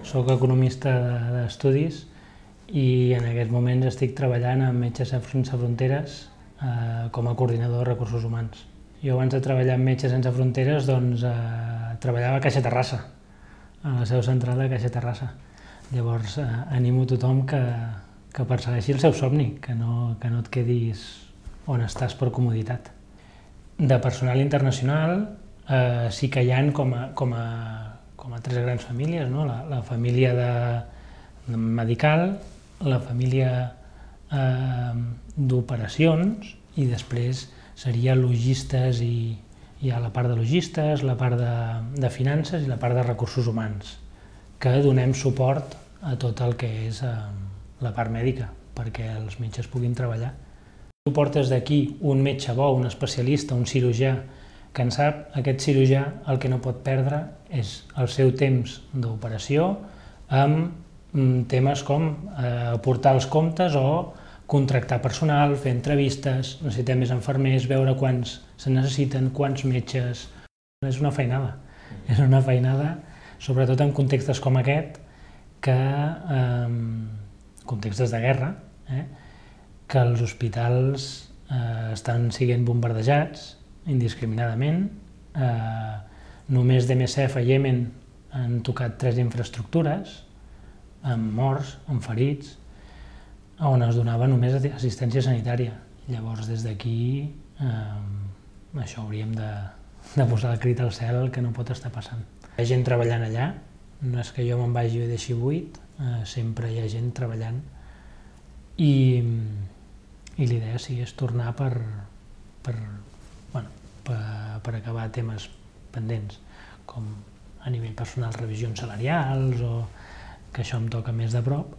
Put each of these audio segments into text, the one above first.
Soc economista d'estudis i en aquests moments estic treballant amb Metges Sense Fronteres com a coordinador de recursos humans. Jo abans de treballar amb Metges Sense Fronteres treballava a Caixa Terrassa, a la seu central de Caixa Terrassa. Llavors animo a tothom que persegueixi el seu somni, que no et quedis on estàs per comoditat. De personal internacional sí que hi ha com a tres grans famílies, no? La família medical, la família d'operacions i després seria logistes i hi ha la part de logistes, la part de finances i la part de recursos humans, que donem suport a tot el que és la part mèdica perquè els metges puguin treballar. Tu portes d'aquí un metge bo, un especialista, un cirurgià que en sap, aquest cirurgià el que no pot perdre és el seu temps d'operació amb temes com aportar els comptes o contractar personal, fer entrevistes, necessitem més infermers, veure quants se necessiten, quants metges. És una feinada, sobretot en contextes com aquest, contextes de guerra, que els hospitals estan sent bombardejats indiscriminadament. Només d'MSF a Iemen han tocat 3 infraestructures, amb morts, amb ferits, on es donava només assistència sanitària. Llavors, des d'aquí, això hauríem de posar el crit al cel que no pot estar passant. Hi ha gent treballant allà, no és que jo me'n vagi i deixi buit, sempre hi ha gent treballant i l'idea sí és tornar per acabar temes pendents, com a nivell personal revisions salarials o que això em toca més de prop,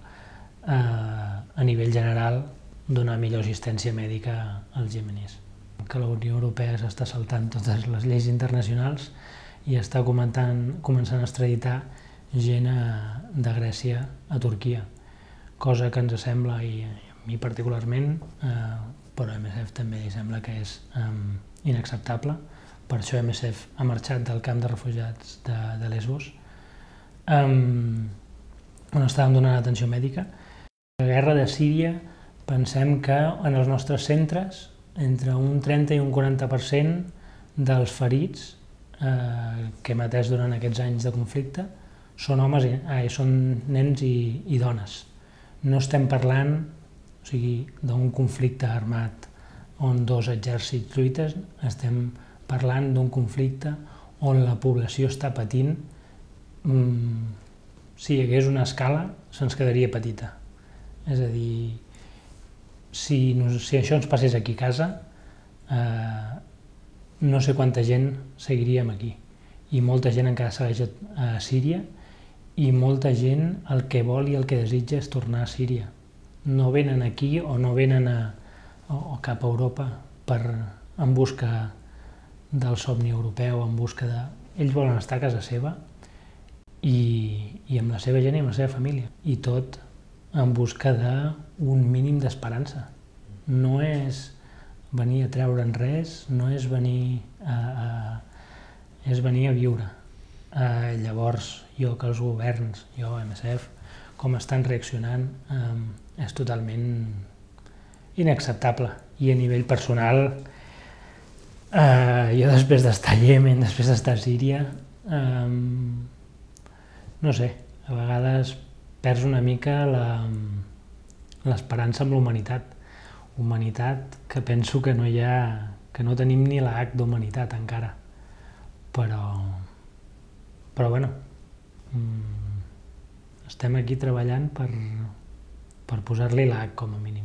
a nivell general donar millor assistència mèdica als iemenis. Que la Unió Europea s'està saltant totes les lleis internacionals i està començant a extraditar gent de Grècia a Turquia, cosa que ens sembla, i a mi particularment, però a MSF també li sembla que és inacceptable. Per això MSF ha marxat del camp de refugiats de Lesbos, on estàvem donant atenció mèdica. La guerra de Síria, pensem que en els nostres centres entre un 30 i un 40% dels ferits que hem atès durant aquests anys de conflicte són nens i dones. No estem parlant d'un conflicte armat on 2 exèrcits lluiten, estem parlant d'un conflicte on la població està patint. Si hi hagués una escala, se'ns quedaria petita. És a dir, si això ens passés aquí a casa, no sé quanta gent seguiríem aquí. I molta gent encara segueix a Síria i molta gent el que vol i el que desitja és tornar a Síria. No venen aquí o no venen o cap a Europa en busca del somni europeu, en busca de... Ells volen estar a casa seva i amb la seva gent i amb la seva família. I tot en busca d'un mínim d'esperança. No és venir a treure'n res, no és venir és venir a viure. Llavors, jo que els governs, jo, MSF, com estan reaccionant, és totalment inacceptable. I a nivell personal, jo després d'estar a Iemen, després d'estar a Síria, no sé, a vegades perds una mica l'esperança amb la humanitat. Humanitat que penso que no tenim ni la H d'humanitat encara. Però bueno, estem aquí treballant per posar-li la H com a mínim.